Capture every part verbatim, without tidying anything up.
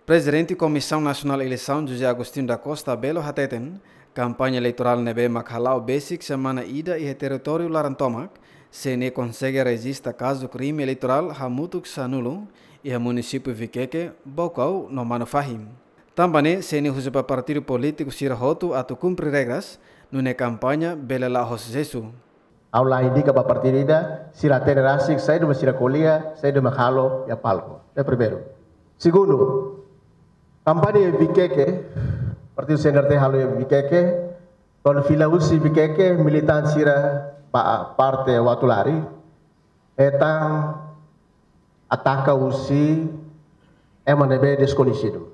Prezidente Komisaun Nasionál Eleisaun José Agostinho da Costa Belo hateten, kampaña eleitorál ne'ebé mak hala'o besik semana ida iha territóriu laran tomak, C N E konsege rejista kazu krime eleitorál hamutuk sanulu iha munisípiu Viqueque, Baucau no Manufahi. Tanba ne'e, C N E husu ba partidu polítiku sira hotu atu kumpre regras, nune'e kampaña bele la'o ho susesu. Ha'u la indika ba partidu ida, sira hatene rasik saida mak sira ko'alia, saida mak halo iha palku. Ida primeiru. Segundu, kampaña iha Viqueque, partidu C N R T halo iha Viqueque, kuandu fila husi Viqueque, militante sira ba parte Uatulari, hetan ataka husi ema ne'ebé deskoñesidu.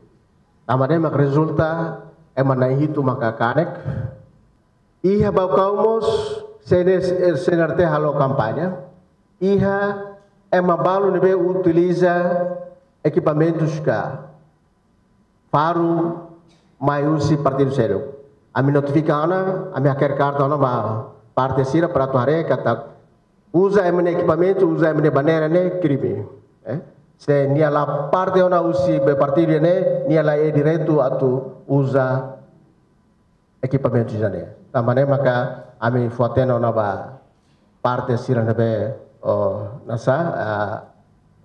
Tanba ne'e mak rezulta ema na'in hitu maka kanek. Iha Baucau mós C N S, C N R T halo kampaña. Iha ema balu ne'ebé utiliza ekipamentus ka faru mai husi partidu seluk. Ami notifika ona, ami hakerek karta ona ba parte sira para atu haree katak uza ema nia ekipamentu, uza ema nia bandeira ne'e krime. Eh? Se nia la parte ona husi be partidu ne'e, nia la iha direitu atu uza ekipamentu sira-ne'e. Tanba ne'e maka ami fó-hatene ona ba parte sira ne'ebé, oh, nasa, ah,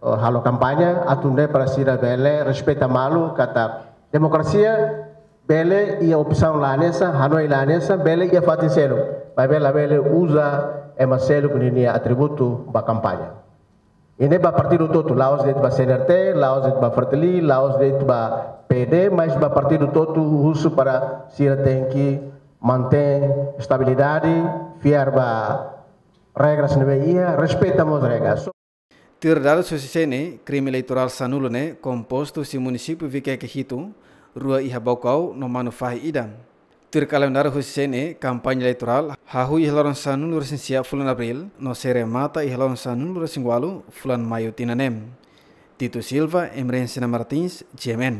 oh, halo kampaña, atu nune'e para sira bele respeita malu katak demokrasia bele iha opsaun la hanesan, hanoin la hanesan, bele iha fatin seluk. Maibé labele uza ema seluk ninia atributu ba kampaña. Ida-ne'e ba partidu hotu, la'ós de'it ba C N R T, la'ós de'it ba Fretilin, la'ós de'it ba P D, mas ba partidu hotu husu para sira tenke mantein estabilidade, fiar ba regras ne'ebé iha, respeita mós regras. Tuir dadus husi C N E, krime eleitorál sanulu ne'e kompostu husi munisípiu Viqueque hitu, rua iha Baucau no Manufahi ida. Tuir kalendáriu husi C N E, kampaña eleitorál hahú iha loron sanulu-resin-sia fulan Abríl, no sei remata iha loron sanulu-resin-ualu fulan Maiu tinan ne'e. Tito Silva, Emerenciana Martins, G M N.